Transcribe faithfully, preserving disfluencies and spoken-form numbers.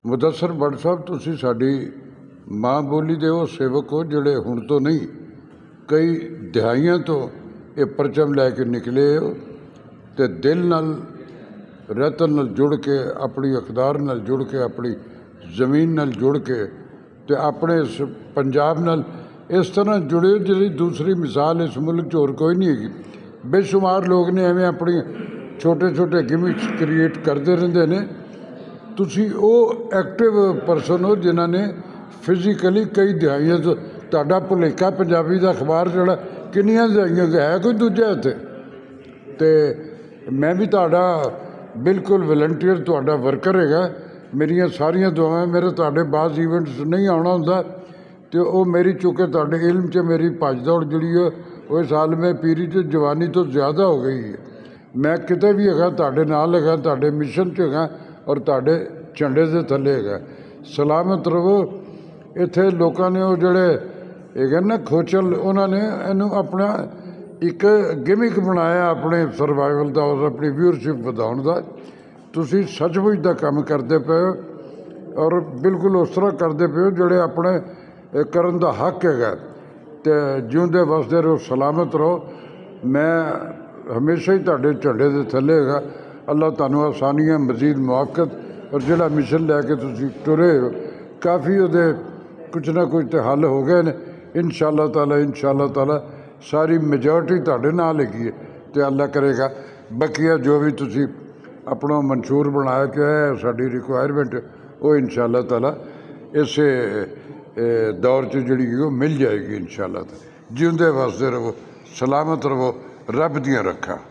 مدثر بٹ صاحب، تسی ساڈی ماں بولی دے او سیوک ہو، جڑے ہن تو نہیں، کئی دہائیاں تو اے پرچم لے کے نکلے ہو تے دل نال، رتن نال جڑ کے، اپنی اقدار نال جڑ کے، اپنی زمین نال جڑ کے، تے اپنے اس پنجاب نال اس طرح جڑے ہو، جس دی دوسری مثال اس ملک چ اور کوئی نہیں ہے۔ بے شمار لوگ نے ایویں اپنی چھوٹے چھوٹے گیمکس کریئیٹ کردے رہندے نے۔ تسی او ایکٹیو پرسن ہو جنہاں نے فزیکلی کئی دہائیاں تو، تہاڈا بھلیکا پنجابی دا اخبار جڑا، کنیاں دہائیاں تو ہے کوئی دوجا اتھے؟ تے میں بھی تہاڈا بالکل والنٹیئر، تہاڈا ورکر ہے گا۔ میریاں ساریاں دعائیں، میرے تہاڈے بعض ایونٹس نہیں آنا ہوندا، تے او میری، چونکہ تہاڈے علم چ میری بھج دوڑ جڑی ہے، او اس عالم پیری چ جوانی تو زیادہ ہو گئی ہے۔ میں کتے بھی ہگا، تہاڈے نال ہگا، تہاڈے مشن چ ہگا اور تہاڈے جھنڈے دے تھلے ہگا۔ سلامت رہو۔ اتھے لوکاں نے او جڑے ہگے نا کھوچل، انہاں نے اینو اپنا ایک گیمک بنایا اپنے سروائیول دا اور اپنی ویورشپ ودھاؤن دا۔ تسی سچ مچ دا کم کردے پے ہو اور بالکل اس طرح کردے پے ہو جڑے اپنے، اے، کرن دا حق ہے۔ تے جیوندے وسدے رہو، سلامت رہو۔ میں ہمیشہ ہی تہاڈے جھنڈے دے تھلے ہاں۔ اللہ تہانوں آسانیاں، مزید موافقت، اور جڑا مشن لے کے تسی ٹرے ہو، کافی اودے کچھ نہ کچھ تے حل ہو گئے نے۔ انشاءاللہ تعالیٰ، انشاءاللہ تعالیٰ ساری میجورٹی تہاڈے نال ہیگی ہے، تے اللہ کرے گا بقیہ جو بھی تسی اپنا منشور بنایا کہ ہے ساڈی ریکوائرمنٹ، وہ انشاءاللہ تعالیٰ اسے، اے، دور چ جڑی ہے، وہ مل جائے گی انشاءاللہ تعالیٰ۔ جیوندے وسدے رہو، سلامت رہو، رب دیاں رکھاں۔